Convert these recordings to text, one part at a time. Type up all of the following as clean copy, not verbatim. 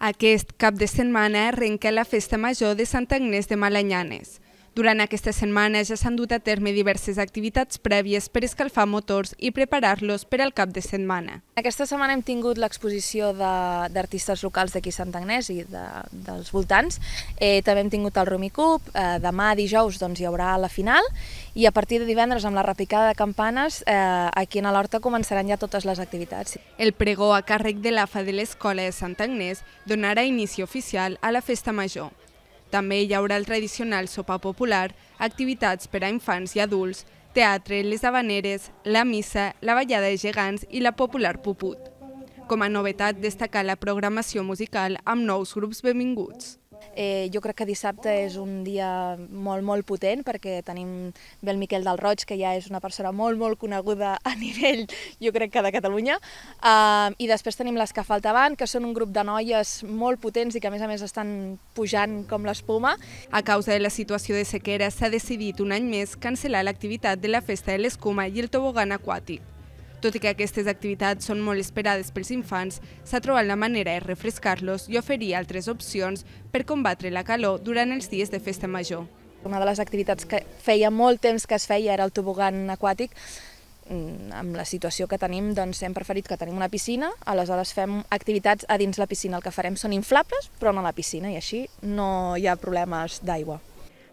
Aquest cap de setmana arrenca la Festa Major de Sant Agnès de Malanyanes. Durant aquesta setmana ja s'han dut a terme diverses activitats prèvies per escalfar motors i preparar-los per al cap de setmana. Aquesta setmana hem tingut l'exposició d'artistes locals d'aquí Sant Agnès i dels voltants. També hem tingut el Rumicup, demà dijous hi haurà la final i a partir de divendres amb la repicada de campanes aquí a l'Horta començaran ja totes les activitats. El pregó a càrrec de l'AFA de l'Escola de Sant Agnès donarà inici oficial a la Festa Major. També hi haurà el tradicional sopar popular, activitats per a infants i adults, teatre, les havaneres, la missa, la ballada de gegants i la popular puput. Com a novetat, destacar la programació musical amb nous grups benvinguts. Jo crec que dissabte és un dia molt potent perquè tenim bé el Miquel del Roig, que ja és una persona molt coneguda a nivell, jo crec que de Catalunya, i després tenim les que faltaven, que són un grup de noies molt potents i que a més estan pujant com l'espuma. A causa de la situació de sequera s'ha decidit un any més cancel·lar l'activitat de la Festa de l'Escuma i el tobogan aquàtic. Tot i que aquestes activitats són molt esperades pels infants, s'ha trobat la manera de refrescar-los i oferir altres opcions per combatre la calor durant els dies de Festa Major. Una de les activitats que feia molt temps que es feia era el tobogan aquàtic. Amb la situació que tenim, hem preferit que tenim una piscina, aleshores fem activitats a dins la piscina. El que farem són inflables, però no a la piscina, i així no hi ha problemes d'aigua.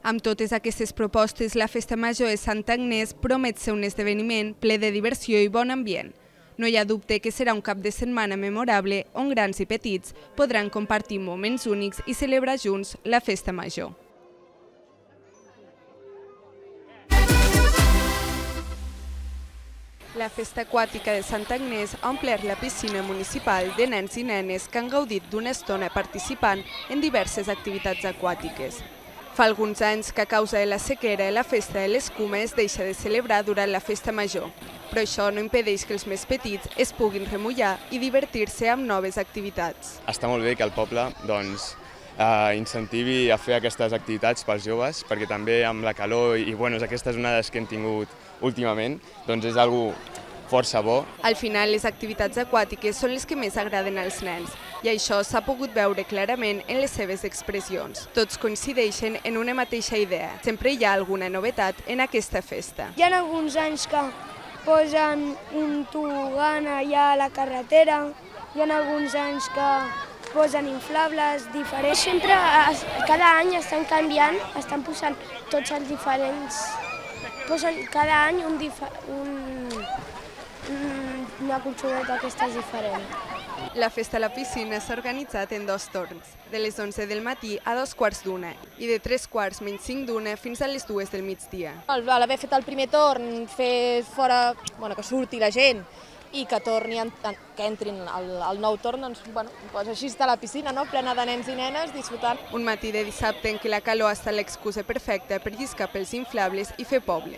Amb totes aquestes propostes, la Festa Major de Sant Agnès promet ser un esdeveniment ple de diversió i bon ambient. No hi ha dubte que serà un cap de setmana memorable on grans i petits podran compartir moments únics i celebrar junts la Festa Major. La Festa Aquàtica de Sant Agnès ha omplert la piscina municipal de nens i nenes que han gaudit d'una estona participant en diverses activitats aquàtiques. Fa alguns anys que a causa de la sequera la Festa de l'Escuma es deixa de celebrar durant la Festa Major, però això no impedeix que els més petits es puguin remullar i divertir-se amb noves activitats. Està molt bé que el poble incentivi a fer aquestes activitats pels joves, perquè també amb la calor i aquestes onades que hem tingut últimament, és algo força bo. Al final, les activitats aquàtiques són les que més agraden als nens i això s'ha pogut veure clarament en les seves expressions. Tots coincideixen en una mateixa idea. Sempre hi ha alguna novetat en aquesta festa. Hi ha alguns anys que posen un tobogan allà a la carretera, hi ha alguns anys que posen inflables diferents. Sempre, cada any estan canviant, estan posant tots els diferents. Posen cada any una colxoneta aquesta és diferent. La festa a la piscina s'ha organitzat en 2 torns, de les 11 del matí a 2:15 i de 3:45 fins a les 2 del migdia. Al haver fet el primer torn, fer fora, que surti la gent i que entrin al nou torn, així està la piscina, plena de nens i nenes disfrutant. Un matí de dissabte en què la calor ha estat l'excusa perfecta per lliscar pels inflables i fer poble.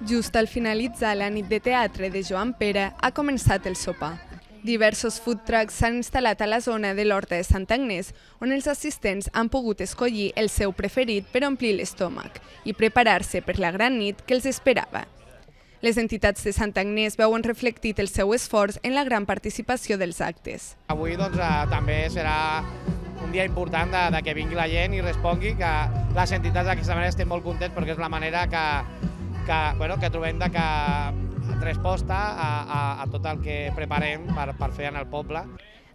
Just al finalitzar la nit de teatre de Joan Pere ha començat el sopar. Diversos food trucks s'han instal·lat a la zona de l'Horta de Sant Agnès, on els assistents han pogut escollir el seu preferit per omplir l'estómac i preparar-se per la gran nit que els esperava. Les entitats de Sant Agnès veuen reflectit el seu esforç en la gran participació dels actes. Avui també serà un dia important que vingui la gent i respongui, que les entitats d'aquesta manera estem molt contents perquè és la manera que trobem de resposta a tot el que preparem per fer en el poble.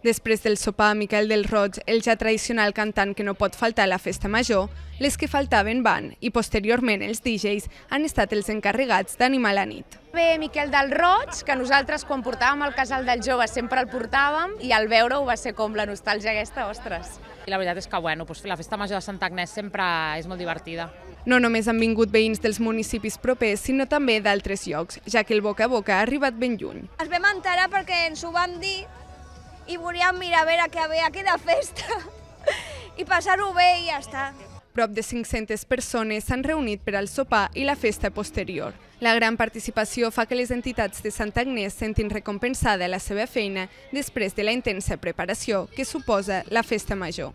Després del sopar, Miquel del Roig, el ja tradicional cantant que no pot faltar a la Festa Major, les que faltaven van i posteriorment els DJs han estat els encarregats d'animar la nit. Ve Miquel del Roig, que nosaltres quan portàvem el casal dels joves sempre el portàvem i al veure-ho va ser com la nostàlgia aquesta, ostres. I la veritat és que la Festa Major de Sant Agnès sempre és molt divertida. No només han vingut veïns dels municipis propers, sinó també d'altres llocs, ja que el boca a boca ha arribat ben lluny. Ens vam enterar perquè ens ho van dir i volíem mirar a veure què havia aquí de festa i passar-ho bé i ja està. Prop de 500 persones s'han reunit per al sopar i la festa posterior. La gran participació fa que les entitats de Sant Agnès sentin recompensada la seva feina després de la intensa preparació que suposa la Festa Major.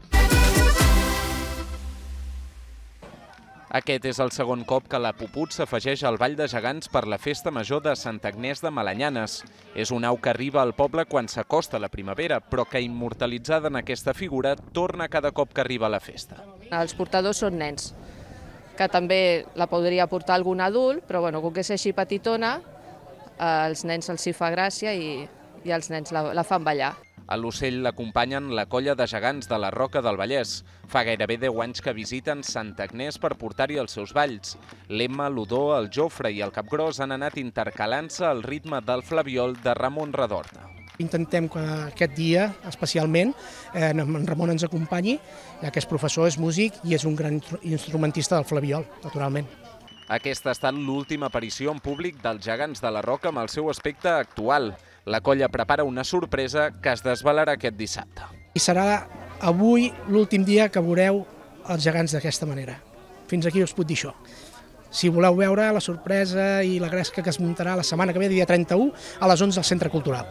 Aquest és el segon cop que la Puput s'afegeix al Ball de Gegants per la Festa Major de Sant Agnès de Malanyanes. És un au que arriba al poble quan s'acosta la primavera, però que immortalitzada en aquesta figura torna cada cop que arriba a la festa. Els portadors són nens, que també la podria portar algun adult, però com que és així petitona, als nens els hi fa gràcia i els nens la fan ballar. A l'ocell l'acompanyen la colla de gegants de la Roca del Vallès. Fa gairebé 10 anys que visiten Sant Agnès per portar-hi els seus balls. L'Emma, l'Odó, el Jofre i el Capgròs han anat intercalant-se al ritme del flabiol de Ramon Redorna. Intentem que aquest dia, especialment, en Ramon ens acompanyi, ja que és professor, és músic i és un gran instrumentista del flabiol, naturalment. Aquesta ha estat l'última aparició en públic dels gegants de la Roca amb el seu aspecte actual. La colla prepara una sorpresa que es desvelarà aquest dissabte. I serà avui l'últim dia que veureu els gegants d'aquesta manera. Fins aquí us puc dir això. Si voleu veure la sorpresa i la gresca que es muntarà la setmana que ve, dia 31, a les 11 al Centre Cultural.